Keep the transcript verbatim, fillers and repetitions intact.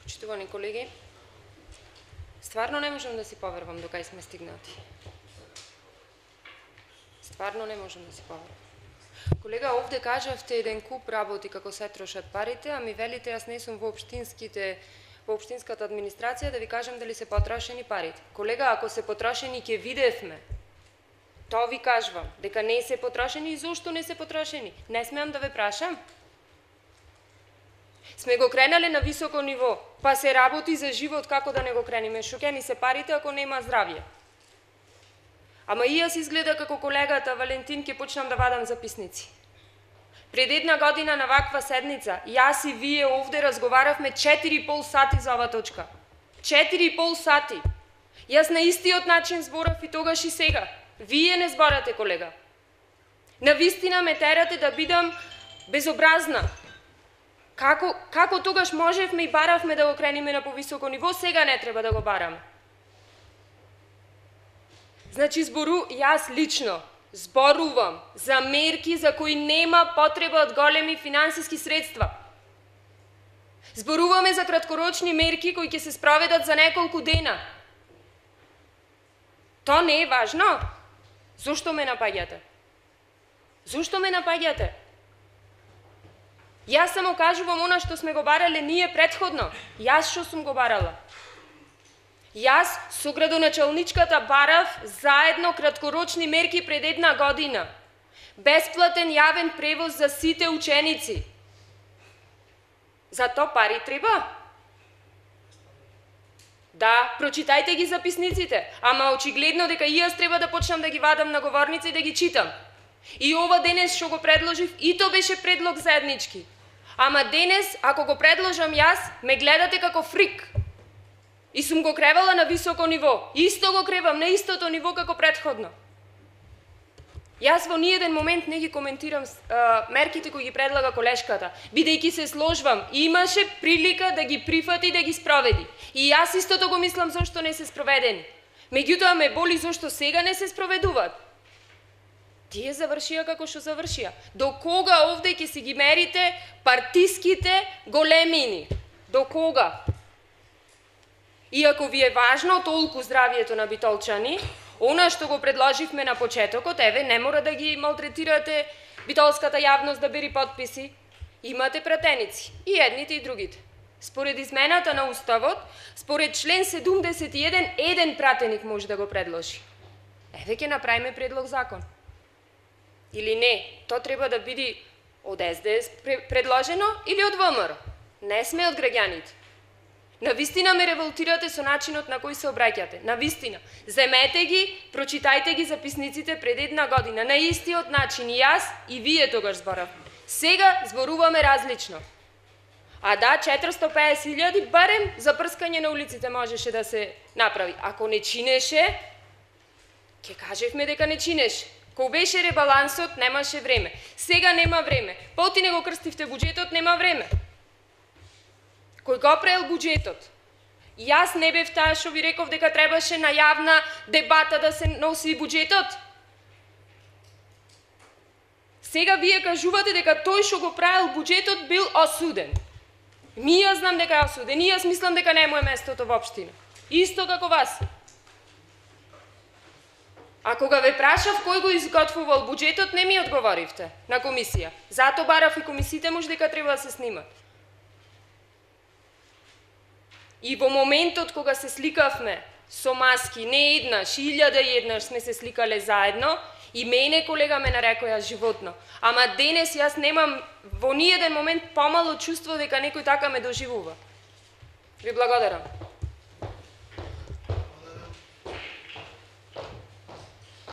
Почитувани колеги, стварно не можам да си поверувам до кај сме стигнати. Стварно не можам да си поверувам. Колега, овде кажавте еден куп работи како се трошат парите, а ми велите јас не сум во општинските во општинската администрација да ви кажам дали се потрошени парите. Колега, ако се потрошени ќе видевме. Тоа ви кажувам, дека не се потрошени и зошто не се потрошени. Не смеам да ве прашам. Сме го кренале на високо ниво, па се работи за живот, како да не го крениме. Шо ќе ни се парите ако нема здравје? Ама и јас изгледа како колегата Валентин ќе почнам да вадам записници. Пред една година на ваква седница, јас и вие овде разговаравме четири и пол сати за ова точка. четири и пол сати. Јас на истиот начин зборав и тогаш и сега. Вие не зборате, колега. Навистина ме терате да бидам безобразна. Како, како тогаш можевме и баравме да го крениме на повисоко ниво, сега не треба да го бараме. Значи, збору, јас лично зборувам за мерки за кои нема потреба од големи финансиски средства. Зборуваме за краткорочни мерки кои ќе се спроведат за неколку дена. Тоа не е важно? Зошто ме напаѓате? Зошто ме напаѓате? Јас само кажувам она што сме го барале ние предходно. Јас што сум го барала? Јас со градоначалничката барав заедно краткорочни мерки пред една година. Бесплатен јавен превоз за сите ученици. За тоа пари треба? Да, прочитајте ги записниците, ама очигледно дека и јас треба да почнам да ги вадам на говорница и да ги читам. И ова денес што го предложив, и то беше предлог заеднички. Ама денес, ако го предложам јас, ме гледате како фрик. И сум го кревала на високо ниво. Исто го кревам на истото ниво како предходно. Јас во ниеден момент не ги коментирам а, мерките кои ги предлага колешката, бидејќи се сложвам, имаше прилика да ги прифати и да ги спроведи. И јас истото го мислам зошто не се спроведени. Меѓутоа ме боли зошто сега не се спроведуваат. Тие завршија како што завршија. До кога овде ќе си ги мерите партиските големини? До кога? И ако ви е важно толку здравието на битолчани, она што го предложивме на почетокот, еве, не мора да ги малтретирате битолската јавност да бери подписи. Имате пратеници, и едните и другите. Според измената на Уставот, според член седумдесет и еден, еден пратеник може да го предложи. Еве ќе направиме предлог закон. Или не, то треба да биде од Ес Де Ес предложено или од Во Ем Ер. Не сме од граѓаните. Навистина ме револтирате со начинот на кој се обраќате. Навистина. Земете ги, прочитајте ги записниците пред една година. На истиот начин и јас и вие тогаш зборавме. Сега зборуваме различно. А да, четиристотини и песет илјади барем за прскање на улиците можеше да се направи. Ако не чинеше, ќе кажевме дека не чинеше. Кога беше ребалансот, немаше време. Сега нема време. Поти не го крстивте буџетот, нема време. Кој го праел буџетот? Јас не бев таа што ви реков дека требаше на јавна дебата да се носи буџетот. Сега вие кажувате дека тој што го правел буџетот бил осуден. Ми јас знам дека е осуден, и јас мислам дека не му е местото во општина. Исто како вас. А кога ве прашав кој го изготвувал буџетот, не ми одговоривте на комисија. Зато барав и комисиите може дека треба да се снимат. И во моментот кога се сликавме со маски, не еднаш, илјада и еднаш сме се сликале заедно, и мене колега ме нарекоја животно. Ама денес јас немам во ниеден момент помало чувство дека некој така ме доживува. Ви благодарам.